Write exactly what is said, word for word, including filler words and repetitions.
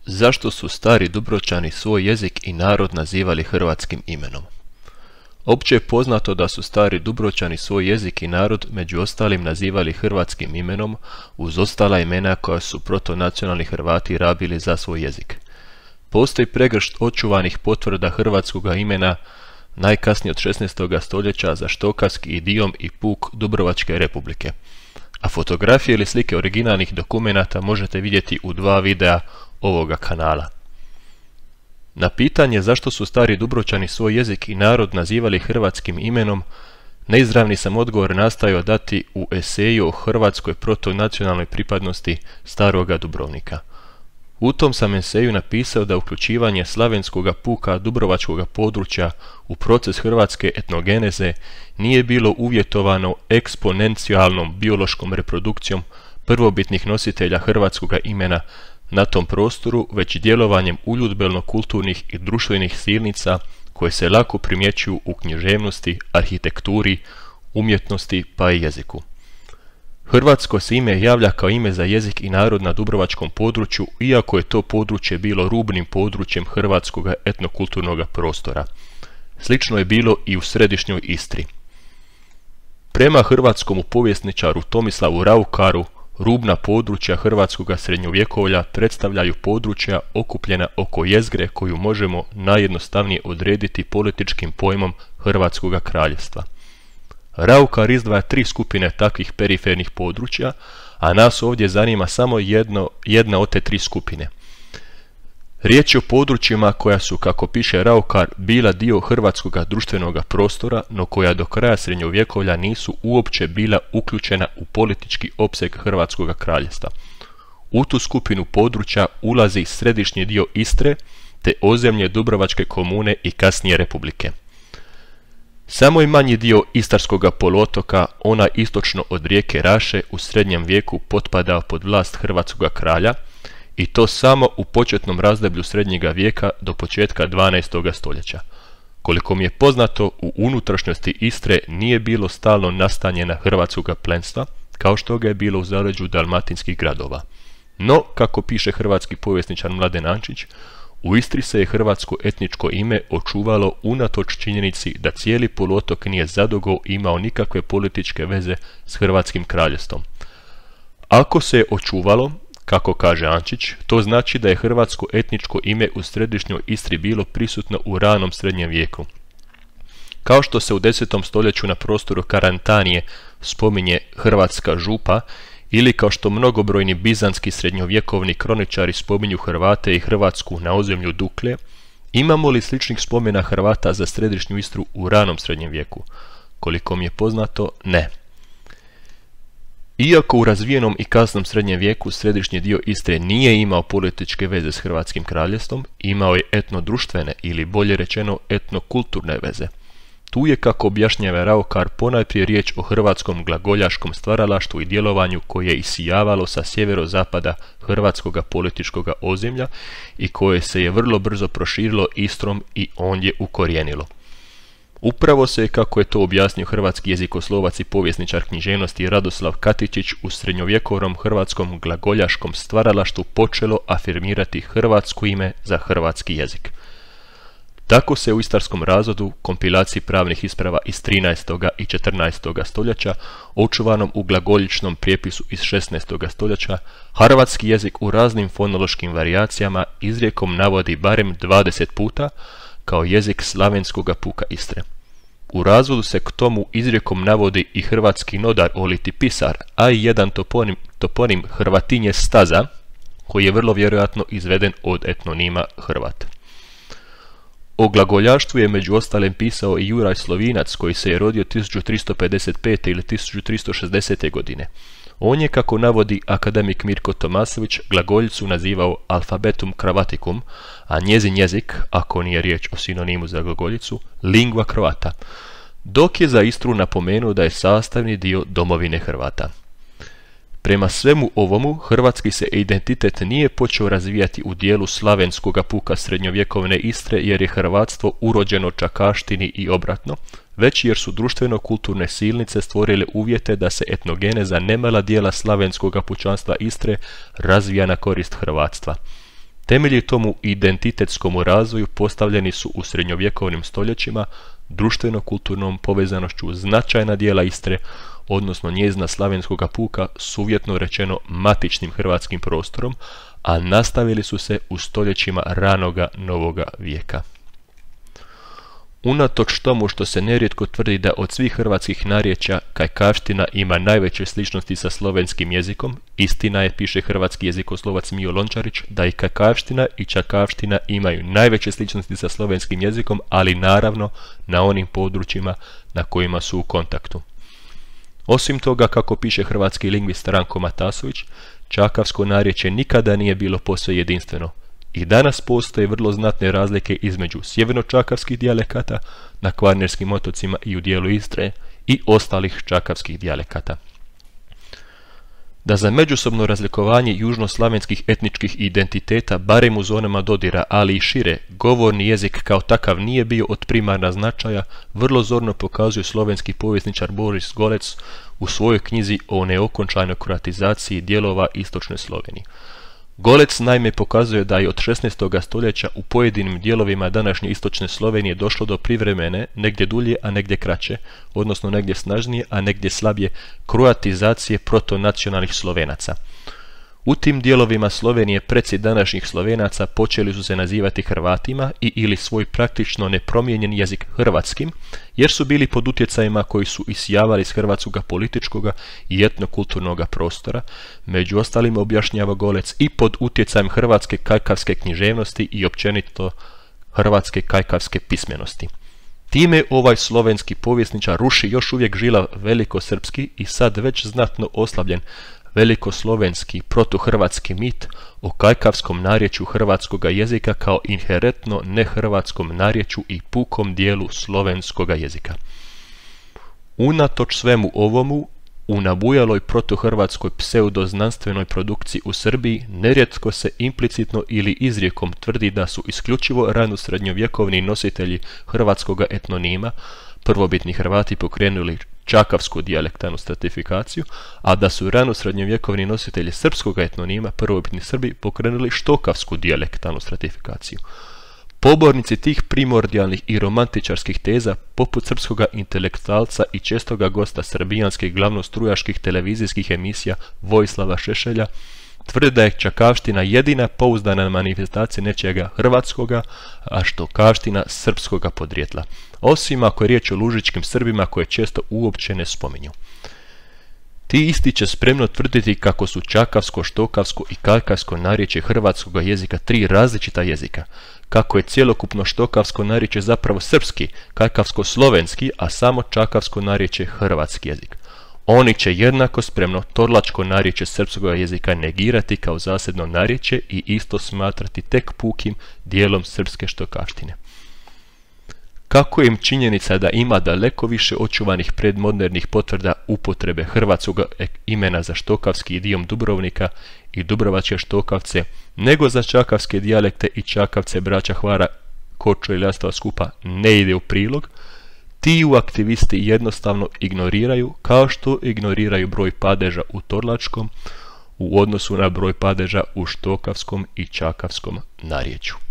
Zašto su stari Dubrovčani svoj jezik i narod nazivali hrvatskim imenom? Opće je poznato da su stari Dubrovčani svoj jezik i narod među ostalim nazivali hrvatskim imenom uz ostala imena koja su protonacionalni Hrvati rabili za svoj jezik. Postoji pregršt očuvanih potvrda hrvatskoga imena najkasnije od šesnaestog stoljeća za štokavski idiom i puk Dubrovačke republike, a fotografije ili slike originalnih dokumenata možete vidjeti u dva videa ovoga kanala. Na pitanje zašto su stari Dubrovčani svoj jezik i narod nazivali hrvatskim imenom, neizravni sam odgovor nastojao dati u eseju o hrvatskoj protonacionalnoj pripadnosti staroga Dubrovnika. U tom sam eseju napisao da uključivanje slavenskoga puka Dubrovačkoga područja u proces hrvatske etnogeneze nije bilo uvjetovano eksponencijalnom biološkom reprodukcijom prvobitnih nositelja hrvatskoga imena na tom prostoru, već djelovanjem uljudbeno-kulturnih i društvenih silnica koje se lako primjećuju u književnosti, arhitekturi, umjetnosti pa i jeziku. Hrvatsko se ime javlja kao ime za jezik i narod na dubrovačkom području, iako je to područje bilo rubnim područjem hrvatskog etnokulturnog prostora. Slično je bilo i u središnjoj Istri. Prema hrvatskom povjesničaru Tomislavu Raukaru, rubna područja hrvatskog srednjovjekovlja predstavljaju područja okupljena oko jezgre koju možemo najjednostavnije odrediti političkim pojmom Hrvatskog kraljevstva. Raukar izdvaja tri skupine takvih perifernih područja, a nas ovdje zanima samo jedno, jedna od te tri skupine. Riječ je o područjima koja su, kako piše Raukar, bila dio hrvatskog društvenog prostora, no koja do kraja srednjovjekovlja nisu uopće bila uključena u politički opseg Hrvatskog kraljevstva. U tu skupinu područja ulazi središnji dio Istre, te ozemlje Dubrovačke komune i kasnije republike. Samo je manji dio Istarskog poluotoka, ona istočno od rijeke Raše, u srednjem vijeku potpadao pod vlast hrvatskog kralja, i to samo u početnom razdoblju srednjega vijeka do početka dvanaestog stoljeća. Koliko mi je poznato, u unutrašnjosti Istre nije bilo stalno nastanjena hrvatskoga plemstva, kao što ga je bilo u zaleđu dalmatinskih gradova. No, kako piše hrvatski povjesničar Mladen Ančić, u Istri se je hrvatsko etničko ime očuvalo unatoč činjenici da cijeli poluotok nije zadugo imao nikakve političke veze s Hrvatskim kraljevstvom. Ako se je očuvalo, kako kaže Ančić, to znači da je hrvatsko etničko ime u središnjoj Istri bilo prisutno u ranom srednjem vijeku. Kao što se u desetom stoljeću na prostoru Karantanije spominje Hrvatska župa, ili kao što mnogobrojni bizanski srednjovjekovni kroničari spominju Hrvate i Hrvatsku na ozemlju Duklje, imamo li sličnih spomena Hrvata za središnju Istru u ranom srednjem vijeku? Koliko mi je poznato, ne. Iako u razvijenom i kasnom srednjem vijeku središnji dio Istre nije imao političke veze s Hrvatskim kraljevstvom, imao je etnodruštvene ili bolje rečeno etnokulturne veze. Tu je, kako objašnjava Raukar, ponajprije riječ o hrvatskom glagoljaškom stvaralaštvu i djelovanju koje je isijavalo sa sjeverozapada hrvatskog političkog ozemlja i koje se je vrlo brzo proširilo Istrom i ondje ukorijenilo. Upravo se, kako je to objasnio hrvatski jezikoslovac i povjesničar književnosti Radoslav Katičić, u srednjovjekovnom hrvatskom glagoljaškom stvaralaštvu počelo afirmirati hrvatsko ime za hrvatski jezik. Tako se u istarskom razvodu, kompilaciji pravnih isprava iz trinaestog i četrnaestog stoljeća, očuvanom u glagoljičnom prijepisu iz šesnaestog stoljeća, hrvatski jezik u raznim fonološkim varijacijama izrijekom navodi barem dvadeset puta kao jezik slavenskoga puka Istre. U razvodu se k tomu izrijekom navodi i hrvatski nodar oliti pisar, a i jedan toponim, toponim Hrvatinje staza, koji je vrlo vjerojatno izveden od etnonima Hrvat. O glagoljaštvu je među ostalim pisao i Juraj Slovinac, koji se je rodio tisuću tristo pedeset pete ili tisuću tristo šezdesete godine. On je, kako navodi akademik Mirko Tomasović, glagoljicu nazivao alfabetum cravaticum, a njezin jezik, ako nije riječ o sinonimu za glagoljicu, lingua croata, dok je za Istru napomenuo da je sastavni dio domovine Hrvata. Prema svemu ovomu, hrvatski se identitet nije počeo razvijati u dijelu slavenskoga puka srednjovjekovne Istre, jer je hrvatstvo urođeno čakaštini i obratno, već jer su društveno-kulturne silnice stvorile uvjete da se etnogeneza nemala dijela slavenskoga pučanstva Istre razvija na korist hrvatstva. Temelji tomu identitetskom razvoju postavljeni su u srednjovjekovnim stoljećima, društveno-kulturnom povezanošću značajna dijela Istre, odnosno njezina slavenskoga puka, s uvjetno rečeno matičnim hrvatskim prostorom, a nastavili su se u stoljećima ranoga novoga vijeka. Unatoč tomu što se nerijetko tvrdi da od svih hrvatskih narječja kajkavština ima najveće sličnosti sa slovenskim jezikom, istina je, piše hrvatski jezikoslovac Mijo Lončarić, da i kajkavština i čakavština imaju najveće sličnosti sa slovenskim jezikom, ali naravno na onim područjima na kojima su u kontaktu. Osim toga, kako piše hrvatski lingvist Ranko Matasović, čakavsko narječje nikada nije bilo posve jedinstveno. I danas postoje vrlo znatne razlike između sjeverno-čakavskih dijalekata na Kvarnerskim otocima i u dijelu Istre i ostalih čakavskih dijalekata. Da za međusobno razlikovanje južnoslavenskih etničkih identiteta, barem u zonama dodira, ali i šire, govorni jezik kao takav nije bio od primarna značaja, vrlo zorno pokazuje slovenski povjesničar Boris Golec u svojoj knjizi o neokončanoj kroatizaciji dijelova istočne Slovenije. Golec naime pokazuje da je od šesnaestoga stoljeća u pojedinim dijelovima današnje istočne Slovenije došlo do privremene, negdje dulje, a negdje kraće, odnosno negdje snažnije, a negdje slabije, kroatizacije protonacionalnih Slovenaca. U tim dijelovima Slovenije preci današnjih Slovenaca počeli su se nazivati Hrvatima i ili svoj praktično nepromijenjen jezik hrvatskim, jer su bili pod utjecajima koji su isijavali iz hrvatskoga političkoga i etnokulturnoga prostora, među ostalim objašnjava Golec i pod utjecajem hrvatske kajkavske književnosti i općenito hrvatske kajkavske pismenosti. Time ovaj slovenski povjesničar ruši još uvijek žila velikosrpski i sad već znatno oslabljen velikoslovenski protuhrvatski mit o kajkavskom narječju hrvatskoga jezika kao inherentno nehrvatskom narječju i pukom dijelu slovenskoga jezika. Unatoč svemu ovomu, u nabujaloj protuhrvatskoj pseudoznanstvenoj produkciji u Srbiji nerijetko se implicitno ili izrijekom tvrdi da su isključivo rano srednjovjekovni nositelji hrvatskoga etnonima, prvobitni Hrvati, pokrenuli čakavsku dijalektanu stratifikaciju, a da su rano srednjovjekovni nositelji srpskog etnonima, prvobitni Srbi, pokrenuli štokavsku dijalektanu stratifikaciju. Pobornici tih primordijalnih i romantičarskih teza, poput srpskoga intelektualca i čestoga gosta srbijanskih glavnostrujaških televizijskih emisija Vojislava Šešelja, tvrde da je čakavština jedina pouzdana manifestacija nečega hrvatskoga, a štokavština srpskoga podrijetla, osim ako je riječ o lužičkim Srbima koje često uopće ne spominju. Ti isti će spremno tvrditi kako su čakavsko, štokavsko i kajkavsko narječje hrvatskoga jezika tri različita jezika, kako je cjelokupno štokavsko narječje zapravo srpski, kajkavsko-slovenski, a samo čakavsko narječje hrvatski jezik. Oni će jednako spremno torlačko narječje srpskog jezika negirati kao zasebno narječje i isto smatrati tek pukim dijelom srpske štokavštine. Kako im činjenica da ima daleko više očuvanih predmodernih potvrda upotrebe hrvatskog imena za štokavski idiom Dubrovnika i dubrovačke štokavce, nego za čakavske dijalekte i čakavce braća Hvara, Kočo i Ljastova skupa ne ide u prilog, ti u aktivisti jednostavno ignoriraju, kao što ignoriraju broj padeža u torlačkom u odnosu na broj padeža u štokavskom i čakavskom narječju.